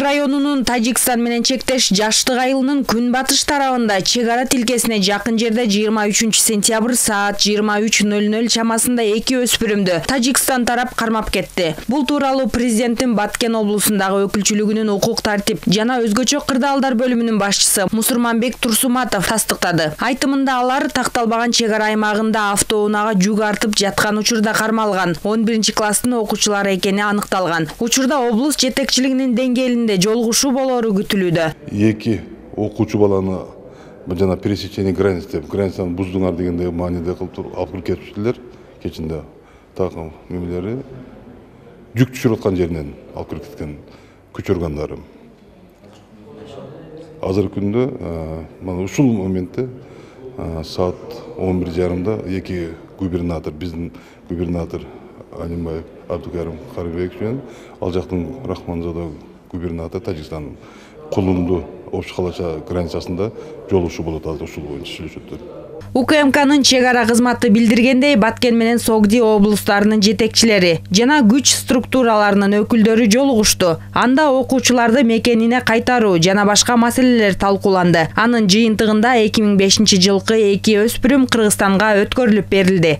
районунун Тажикстан менен чектеш Жаштык айылынын күнбатыш тарабында чек ара тилкесине жакын жерде 23 сентябрь саат 23:00 чамасында 2 өспүрүмдү Тажикстан тарап кармап кетти. Бул тууралуу президенттин Баткен облусундагы өкүлчүлүгүнүн укук тартип жана өзгөчө кырдаалдар бөлүмүнүн башчысы Мусурманбек Турсуматов тастыктады. Айтымында алар такталбаган чек ара аймагында автоунаага жүк артып жаткан учурда кармалган 11-класстын окуучулары экени аныкталган. Учурда облус жетекчилигинин деңгээлинде жолугушуу болору күтүлүүдө. 2 окуучу баланы жана пересечение границаны буздуңар дегенде мааниде кылып алып кетиптилер. Кечинде такым мемелери жүк түшүрүп аткан жеринен алып кирип кеткен көчөргандары. Азыркы күндө мына ушул моментте саат 11:30-да 2 губернатор, биздин губернатор Алимбаев Абдукарим Карыбекович менен ал жактын Рахманзада губернатор Тажикстандын Кулунду Ош Калача границасында жолугушуу болот, азыр ушул боюнча сүйлөшөттөр. УКМКнын чек ара кызматы билдиргендей, Баткен менен Согди облустарынын жетекчилери жана күч структураларынын өкүлдөрү жолугушту. Анда окуучуларды мекенине кайтаруу жана башка маселелер талкууланды. Анын жыйынтыгында 2005-жылкы 2 өспүрүм Кыргызстанга өткөрүлүп берилди.